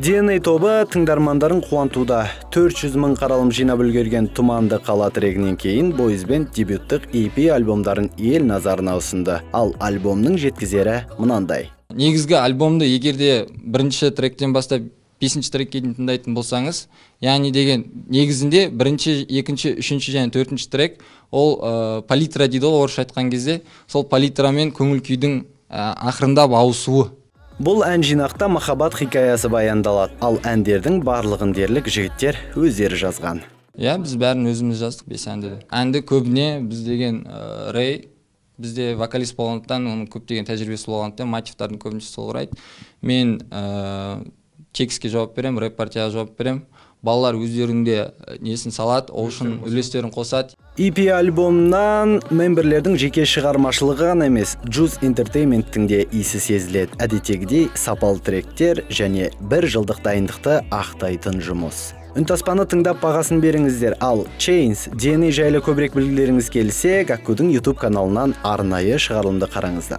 DNA тобу тыңдармандарын кубантууда. 400 000 каралым жыйнап үлгерген Туманды кала трегинен кийин Boys Band дебюттук EP альбомдарын эл назарына усунду. Ал альбомдун жеткизери мынандай. Негизги альбомду эгерде биринчи тректен баштап 5-чи трекке тыңдайтын болсаңыз, яғни деген негизинде 1-чи, 2-чи, 3-чү жана 4-чү трек ол палитра дейді ол орысша айткан кезде, сол палитрамен көңүл күйдүн акырындап ауысуы. Бул ән жинакта махаббат хикаясы баяндалат. Ал әндердин барлыгын дерлик жигиттер өздері жазган. Биз бәрін өзүмүз жаздык 5 әнди. Әнди көбүнө биз деген Рэй бизде вокалист болгондуктан, онун көптөгөн тажрыйбасы болгондуктан мотивдардын көбүнчөсү сол урайт. Мен текстке жооп берем, рэп партияга жооп берем. Балалар өздеринде несин салат, ошун үлестерин косат. EP альбомунан мемберлердин жеке чыгармачылыгы гана эмес, Juice Entertainment'тин де иси сезилет. Адетегидей сапал тректер және 1 жылдык дайындыкты актайтын жумуш. Үнтаспаны тыңдап багасын бериңиздер. Ал Chains, DNA жайлы көбүрөөк билгилериңиз келсе, Гаккудун YouTube каналынан арнайы чыгарылымды караңыздар.